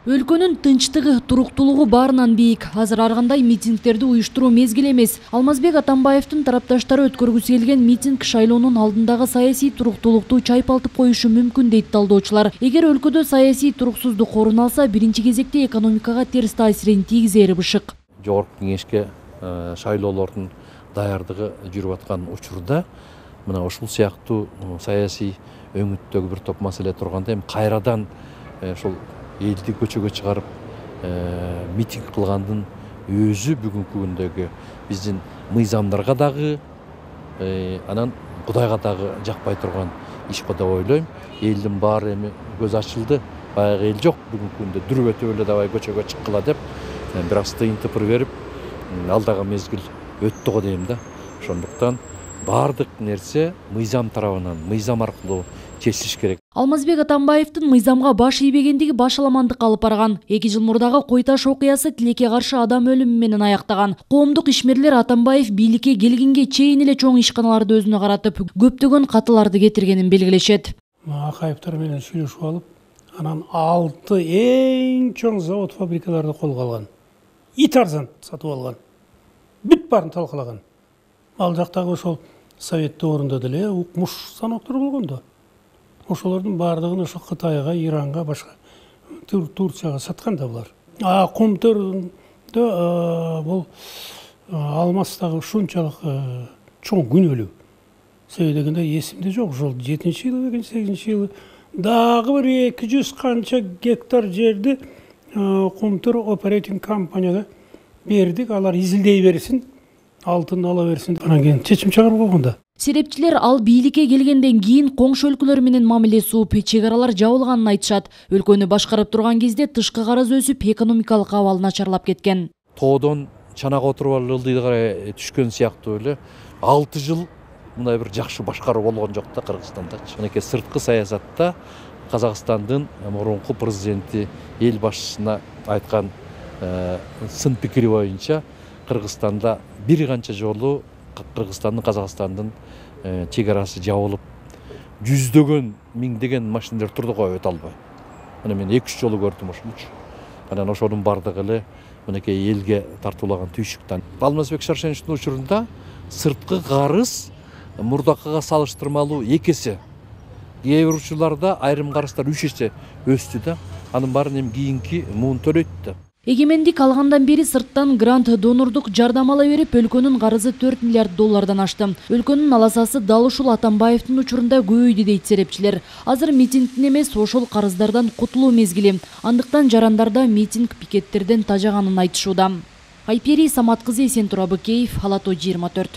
Өлкөнүн тынчтыгы, туруктуулугу баарынан бийик. Азыр ар кандай митингдерди уюштуруу мезгил эмес. Алмазбек Атамбаевдин тарапташтары өткөргүсү келген митинг шайлоонун алдындагы саясий туруктуулукту чайпалтып коюшу мүмкүн дейт талдоочулар. Эгер өлкөдө саясий туруксуздук орун алса, биринчи кезекте экономикага терс таасирин тийгизери бышык. Жогорку кеңешке шайлоолордун даярдыгы жүрүп аткан учурда мына ушул сыяктуу саясий өңүттөгү бир топ маселе турганда эми кайрадан ошол элди көчөгө чыгарып митинг кылгандын өзү бүгүнкү күндөгү биздин мыйзамдарга дагы анан Кудайга дагы жакпай турган иш го деп ойлойм. Элдин баары эми көз ачылды. Баягы эл жок бүгүнкү күндө дүрбөтүп эле давай көчөгө чыккыла деп бир аз тыйын тыпыр берип алдагы мезгил өттү го дейм да. Ошондуктан баардык нерсе мыйзам тарабынан, мыйзам аркылуу чечилиш керек. Алмазбек Атамбаевдин мыйзамга баш ийбегендиги башаламандыкка алып барган. 2 жыл мурдагы Кой Таш окуясы тилекке каршы адам өлүмү менен аяктаган. Коомдук ишмерлер Атамбаев бийликке келгенге чейин эле чоң ишканаларды өзүнө каратып, көптөгөн катыларды кетиргенин белгилешет. Акаевтер менен сүйлөшүп алып, анан 6 эң чоң завод фабрикаларды колго алган. Ит арзан сатып алган. Бүт баарын талкалаган. Ал жактагы ошол совет доорунда деле укмуш станоктор болгон да. Ошолордун баардыгын ошо Кытайга, Иранга, башка Турцияга саткан да булар. Комтөрдө бул алмастагы ушунчалык чоң күнөөлүү. Себеби дегенде эсимде жок, ошол 7-жылы, 8-жылы дагы бир 200 канча гектар жерди Комтөр оперейтинг компанияга бердик. Алар изилдей берсин, алтын ала берсин. Анан кийин чечим чыгарып койгон да. Серепчилер ал бийликке келгенден кийин коңшу өлкөлөр менен мамиле сууп, чек аралар жабылганын айтышат. Өлкөнү башкарып турган кезде тышкы карыз өсүп, экономикалык абал начарлап кеткен. Тоодон чанага отуруп алып ылдыйга карай түшкөн сыяктуу эле 6 жыл мындай бир жакшы башкаруу болгон жок да Кыргызстандачы. Мынакей сырткы саясатта Казакстандын мурунку президенти эл башчысына айткан сын пикири боюнча Кыргызстанда бир канча жолу Кыргызстандын Казакстандын чек арасы жабылып, жүздөгөн, миңдеген машиналар турду го өтө албай. Мына мен 2-3 жолу көрдүм ошончу. Анан ошонун бардыгы эле мынакей элге тартуулаган түйшүктөн. Алмазбек Шаршеновичтин учурунда сырткы карыз мурдакыга салыштырмалуу 2 эсе. Кээ бир учурларда айрым карыздар 3 эсе өстү да. Анын баарын эми кийинки муун төлөйт да. Эгемендик алгандан бери сырттан грант донорлук жардам ала берип, өлкөнүн карызы 4 миллиард доллардан ашты. Өлкөнүн аласасы дал ушул Атамбаевдин учурунда көбөйдү дейт серепчилер. Азыр митингдин эмес, ошол карыздардан кутулуу мезгили. Андыктан жарандарда митинг пикеттерден тажаганын айтышууда. Айпери Самат кызы, Эсентура Быкеев, Ала Тоо 24.